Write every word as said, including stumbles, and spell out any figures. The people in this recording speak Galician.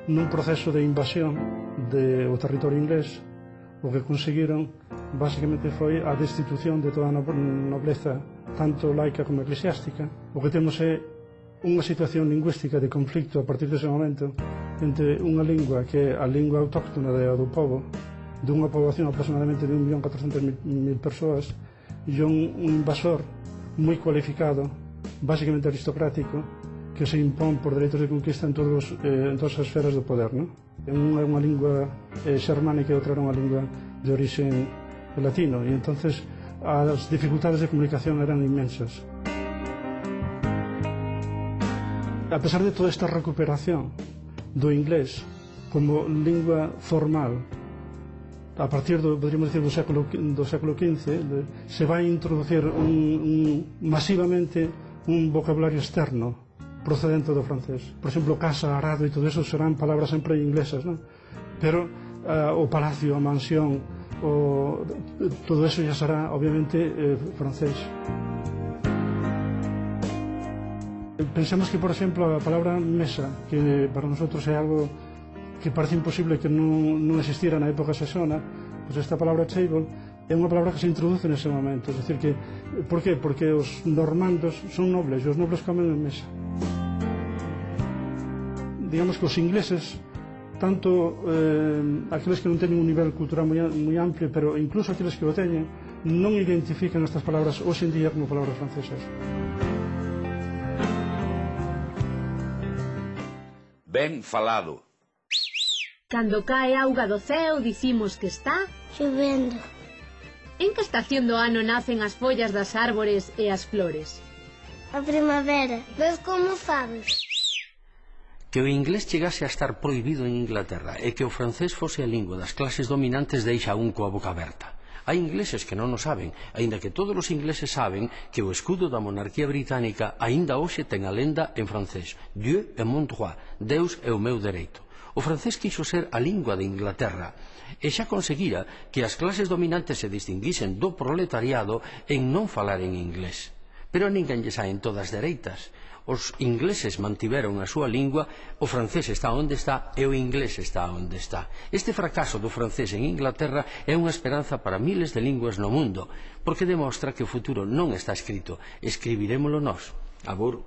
nun proceso de invasión do territorio inglés, o que conseguiron basicamente foi a destitución de toda a nobleza, tanto laica como eclesiástica. O que temos é unha situación lingüística de conflicto a partir dese momento entre unha lingua que é a lingua autóctona do povo, dunha poboación aproximadamente de un millón catorcentas mil persoas, e un invasor moi cualificado, basicamente aristocrático, que se impón por dereitos de conquista en, todos, eh, en todas as esferas do poder, non? Unha é unha lingua eh, xermánica e outra era unha lingua de origen latino, e entonces as dificultades de comunicación eran inmensas. A pesar de toda esta recuperación do inglés como lingua formal, a partir do, podríamos decir, do século, do século quince, de, se vai introducir un, un, masivamente un vocabulario externo procedente do francés. Por exemplo, casa, arado e todo eso serán palabras sempre inglesas, non? Pero uh, o palacio, a mansión, o, todo eso ya será obviamente eh, francés. Pensemos que, por exemplo, a palabra mesa, que para nosotros é algo que parece imposible que non, non existira na época saxona, pues esta palabra table é unha palabra que se introduce nese momento. É dicir que, por qué? Porque os normandos son nobles e os nobles comen en mesa. Digamos que os ingleses, tanto eh, aqueles que non teñen un nivel cultural moi, moi amplio, pero incluso aqueles que o teñen, non identifican estas palabras hoxe en día como palabras francesas. Ben falado. Cando cae auga do ceo, dicimos que está chovendo. En que estación do ano nacen as follas das árbores e as flores? A primavera. Ves como sabes? Que o inglés chegase a estar prohibido en Inglaterra e que o francés fose a lingua das clases dominantes deixa un coa boca aberta. Hai ingleses que non o saben, aínda que todos os ingleses saben que o escudo da monarquía británica aínda hoxe ten a lenda en francés: Dieu est mon droit, Deus é o meu dereito. O francés quixo ser a lingua de Inglaterra e xa conseguira que as clases dominantes se distinguisen do proletariado en non falar en inglés. Pero a ninguén lle saen todas dereitas. Os ingleses mantiveron a súa lingua, o francés está onde está e o inglés está onde está. Este fracaso do francés en Inglaterra é unha esperanza para miles de linguas no mundo, porque demostra que o futuro non está escrito, escribirémolo nós. Abur.